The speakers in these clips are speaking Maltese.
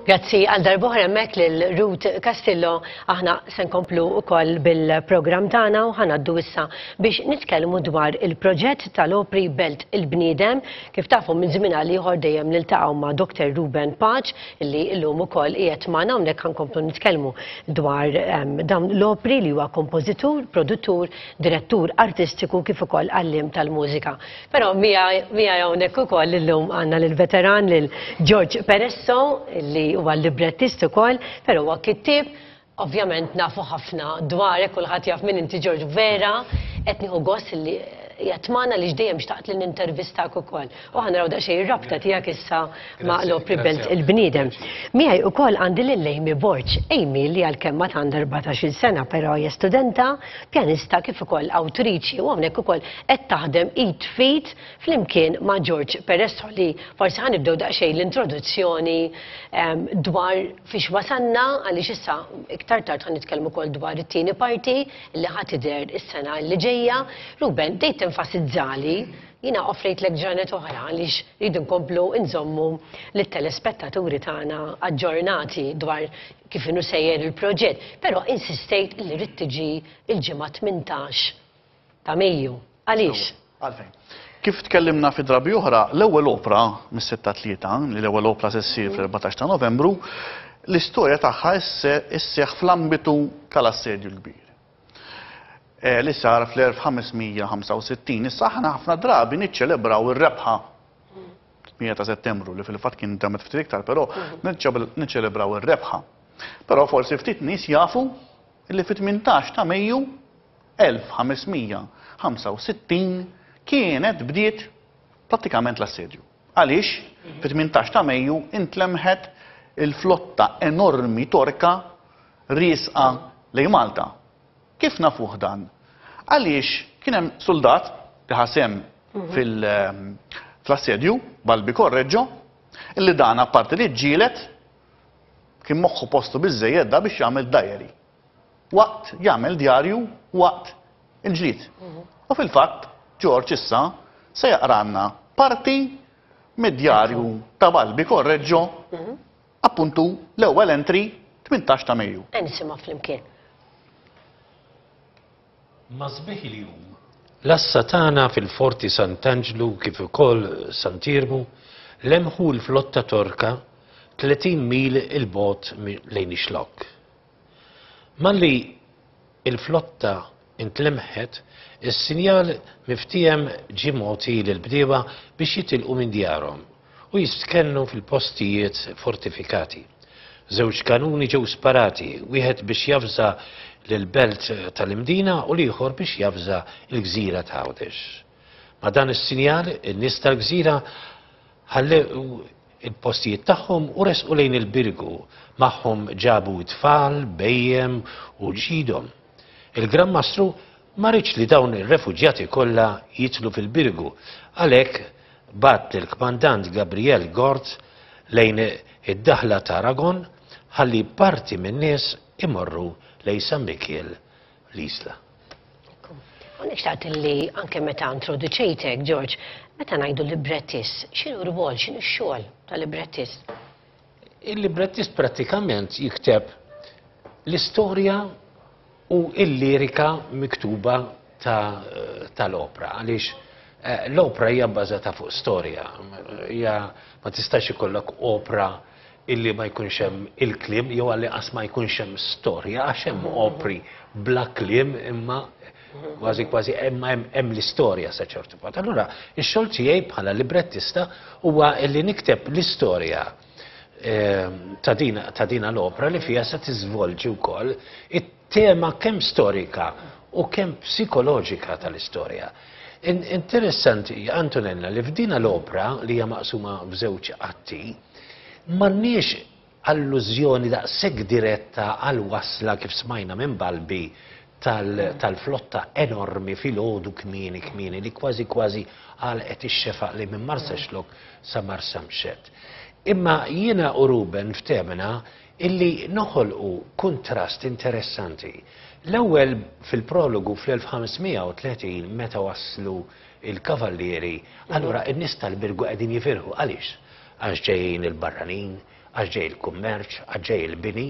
Grazzi għal darb'oħra hemmhekk lil Ruth Castillo. Aħna se nkomplu wkoll bil-programm tagħna u ħa ngħaddu issa biex nitkellmu dwar il-proġett tal-opri Belt il-Bniedem. Kif tafu minn żmien għal ieħor dejjem niltaqgħu ma' Dr. Ruben Pace li llum ukoll qiegħed magħna hawnhekk ħa nkomplu nitkellmu dwar ehm, dawn l-opri li huwa kompożitur, produttur, direttur artistiku kif ukoll għalliem tal-mużika. Però miegħi hawnhekk ukoll illum għandna lill-veteran lil George Peresso li huwa librettist ukoll, però huwa kittieb. Ovvjament nafu ħafna dwarek, kulħadd jaf min inti George vera, qed nieħu gost li qiegħed magħna li dejjem xtaqt li nintervistak ukoll. U ħa naraw daqsxejn ir-rabta tiegħek issa ma' l-opri Belt il-Bniedem. Miegħi ukoll għandi lil Amy Borg. Amy li għalkemm ma għandha 14-il sena però hija studenta pjanista kif ukoll awtriċi u hawnhekk ukoll qed taħdem id f'id flimkien ma' George Peresso li forsi ħa nibdew daqsxejn l-introduzzjoni ehm, dwar fiex wasanna għaliex issa iktar tard ħa nitkellmu wkoll dwar it-tieni parti li ħa tidher is-sena li ġejja. Ruben, dejt tenfasizzali jina offrejtlek ġranet oħra għaliex rridu nkomplu nżommu lit-telespettaturi tagħna aġġornati dwar kif inhu sejjer il-proġett, però insistejt li rrid tiġi il-ġimgħa 18 ta' Mejju. Għaliex? Għalfejn. Kif tkellimna fi drabi oħra, l-ewwel opra mis-sitta tlieta, li l-ewwel opra se ssir fl-14 ta' Novembru, l-istorja tagħha isseħħ fl-ambitu tal-Assedju l-Kbir. Eh, li sar fl-1565. Issa aħna ħafna drabi niċċelebraw ir-rebħa 8 ta' Settembru li fil-fatt kien damet ftit iktar, però niċċelebraw ir-rebħa. Però forsi ftit nies jafu li fit-18 ta' Mejju 1565 kienet bdiet prattikament l-assedju. Għaliex fit-18 ta' Mejju intlemħet il-flotta enormi Torka riesqa lejn Malta. Kif nafuh dan? Għaliex kien hemm suldat li ħa sehem fil-assedju, Balbi Correggio, illi dan apparti li ġġieled kien moħħu postu biżżejjed da biex jagħmel diary. Waqt jagħmel djarju waqt il-ġlied. U fil-fatt George issa se jaqranna parti mid-djarju ta' Balbi Correggio appuntu l-ewwel entry 18 ta' Mejju. Nisimgħu flimkien. Ma' sbieħ il-jum, l-għassa tagħna fil-Forti Sant'Anġlu kif ukoll Sant'Iermu lemħu l-flotta Torka 30 mil 'il bogħod lejn ix-Xlokk. Malli l-flotta ntlemħet, is-sinjal miftiehem ġie mogħti lill-bdiewa biex jitilqu minn djarhom u jistkennu fil-postijiet fortifikati. Żewġ kanuni ġew sparati, wieħed biex javża lill-belt tal-Imdina u l-ieħor biex javża l-gżira ta' Għawdex. Ma' dan is-sinjal, in-nies tal-gżira ħallew il-postijiet tagħhom u resqu lejn il-Birgu, magħhom ġabu t-tfal, bhejjem u ġidhom. Il-Gran Mastru ma riedx li dawn ir-refuġjati kollha jidħlu fil-Birgu, għalhekk bagħat lill-kmandant Gabriel Gort lejn id-daħla ta' Aragon ħalli parti min-nies imorru lejn San Mikiel l-Isla. Hawnhekk xtaqt li anke meta introduċejtek, George, meta ngħidu librettist, x'inhu r-rwol, x'inhu x-xogħol ta' librettist? Il-librettist prattikament jikteb l-istorja u l-lirika miktuba tal-opra għaliex eh, l-opra hija bbażata fuq storja. Hija ma tistax ikollok opra illi ma jkunx hemm il-kliem jew għalli qas ma jkunx hemm storja għax hemm opri bla kliem imma kważi kważi imma hemm l-istorja sa ċertu punt. Allura, ix-xogħol tiegħi bħala librettista huwa li nikteb l-istorja ehm, ta' din ta' din l-opra li fiha se tiżvolġi wkoll it-tema kemm storika u kemm psikoloġika tal-istorja. Interessanti, Antonella, li f'dina l-opra li hija maqsuma f'żewġ atti, M'għandniex allużjoni daqshekk diretta għall-wasla kif smajna minn Balbi tal-flotta enormi filgħodu kmieni kmieni li kważi kważi għalqet ix-xefaq li minn Marsaxlokk sa Marsamxett. Imma jiena u Ruben ftehmna illi noħolqu kuntrast interessanti. L-ewwel fil-prologu fl-1530 meta waslu l-kavallieri, allura n-nies tal-Birgu qegħdin jifirħu. Għaliex? Għax ġejjin il-barranin, Għax ġej il-kummerċ, għax ġej il-bini,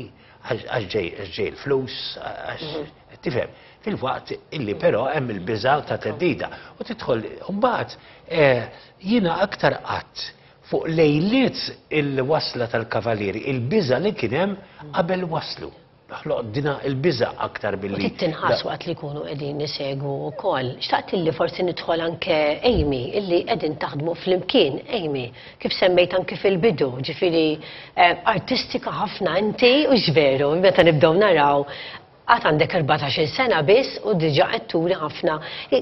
għax ġej il-flus, għax tifhem. Filwaqt illi però hemm il-biża' ta' theddida. U tidħol mbagħad eh, jiena aktar qatt fuq lejliet il-wasla tal-kavalieri, il-biża' li kien hemm qabel waslu. Ħloq dina il-biża' aktar billi. U trid tinħass waqt li jkunu qegħdin isegwu wkoll. Xtaqt illi forsi nidħol anke Amy, illi qegħdin taħdmu flimkien, Amy, kif semmejt anke fil-bidu, ġifieri eh, artistika ħafna inti u veru, meta nibdew naraw għad għandek 14 sena biss u diġa qed turi ħafna.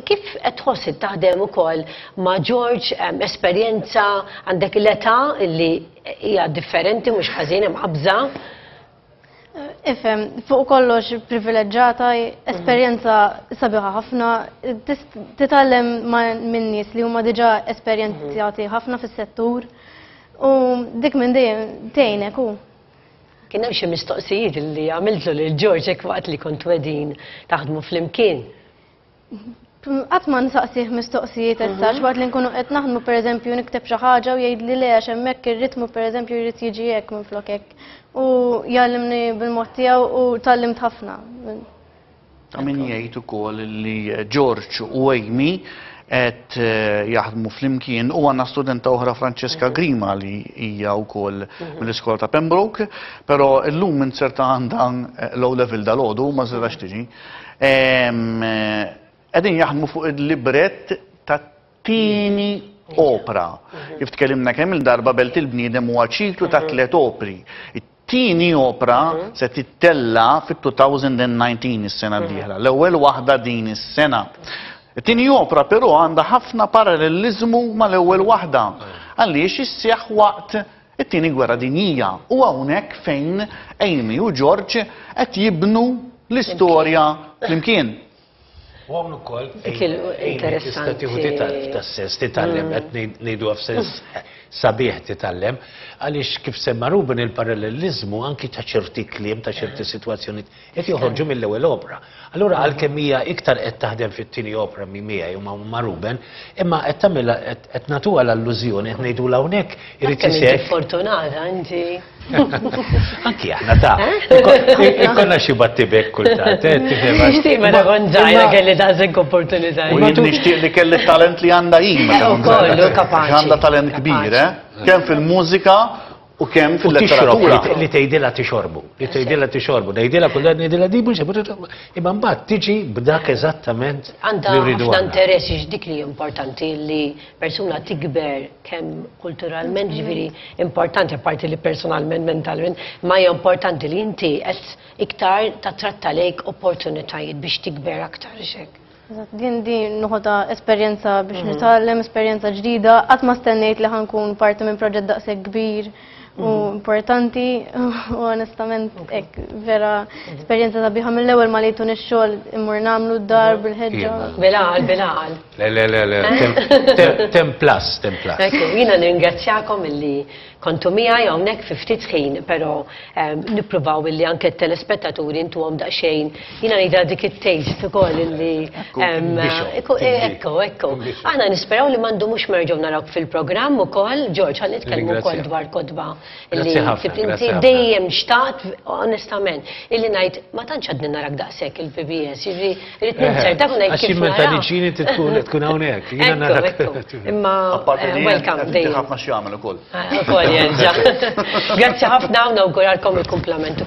Kif qed tħoss taħdem ukoll ma' George esperjenza għandek l-età illi hija differenti mhux ħażin hemm qabża. Ifhem, fuq kollox privileġġata, esperjenza sabiħa ħafna, titgħallem minn nies li huma diġà esperjenzjati ħafna fis-settur u dik minn dejjem tgħinek u. Kien hemm xi mistoqsijiet li għamiltlu lil George hekk waqt li kontu qegħdin taħdmu flimkien. Qatt ma nsaqsih mistoqsijiet as such, waqt li nkunu qed naħdmu pereżempju nikteb xi ħaġa u jgħidli le għax hemmhekk ir-ritmu pereżempju jrid jiġi hekk minflok hekk. U jgħallimni bil-mod tiegħu u tgħallimt ħafna. Ta' min jgħid ukoll li George u Amy qed eh, jaħdmu flimkien u għandna studenta oħra Francesca mhm. Grima li hija wkoll mhm. mill-iskola ta' Pembroke, però llum inserta għandha eh, low level dal-għodu ma żrax tiġi. Qegħdin jaħdmu fuq il-librett tat-tieni opra. Mhm. Kif tkellimna kemm il-darba Belt il-Bniedem huwa ċiklu ta' mhm. tliet opri. It-tieni opra mhm. se tittella fit-2019 is-sena d-dieħla. L-ewwel waħda din is-sena. It-tieni opra però għandha ħafna paralleliżmu mal-ewwel waħda. Għaliex isseħħ waqt it-Tieni Gwerra Dinjija u hawnhekk fejn Amy u George qed jibnu l-istorja flimkien. U hawn ukoll Amy tista' tieħu titgħallem f'das-sens, titgħallem mm. qed ngħiduha f'sens sabiħ titgħallem, għaliex kif semma Ruben il-paralleliżmu anki ta' ċerti kliem ta' ċerti sitwazzjonijiet qed joħorġu mill-ewwel opra. Allura għalkemm hija iktar qed taħdem fit-tieni opra minn miegħi u ma' Ruben, imma qed tagħmilha qed nagħtuha l-allużjoni qed ngħidulha hawnhekk irid isir. Fortunata inti. Anki aħna ta' ikollna xi battibek kultant, eh, tifhem. Nixtieq meta kont żgħira kelli daqshekk opportunità. U jien nixtieq li kelli talent li għandha hi meta kont żgħira. Kapaċi. Għandha talent kbir, eh? Kemm fil-mużika U kemm fil-letteratura. Li tgħidilha tixorbu, li tgħidilha tixorbu, ngħidilha kull darba ngħidilha di mhux imma mbagħad tiġi b'dak eżattament Għandha ħafna interess dik li importanti li persuna tikber kemm kulturalment ġifieri importanti apparti li personalment mentalment, ma hija importanti li inti qed iktar tatratta lejk opportunitajiet biex tikber aktar xek. Din din noħodha esperjenza biex mhm. nitgħallem, esperjenza ġdida, qatt ma stennejt li ħankun parti minn proġett daqshekk kbir u mhm. importanti u onestament hekk vera mhm. esperjenza sabiħa mill-ewwel ma lejtun ix-xogħol immur nagħmlu d-dar bil-ħeġġa. Bilaqal, bilaqal. Le, le, le, le, tem plus, tem plus. Ekku, jiena nirringrazzjakom illi Kontu miegħi hawnhekk fi ftit ħin, però nippruvaw illi anke t-telespettaturi ntuhom daqsxejn, jiena ngħidha dik it-taste ukoll illi ekku, ekku, ekku. Aħna nisperaw li ma ndumux ma nerġgħu narawk fil-programm ukoll, George, ħa nitkellmu wkoll dwar kotba illi inti dejjem xtaqt, onestament, illi ngħid ma tantx għadni narak daqshekk il-PBS, jiġifieri Irrid ninzertak u ngħid kif. Għax meta niġini tkun tkun hawnhekk. Jiena narak. Imma eh, welcome dejjem. Ħafna xi jagħmel ukoll. Ah, ukoll jerġa'. Grazzi ħafna u nawguralkom il-kumplament.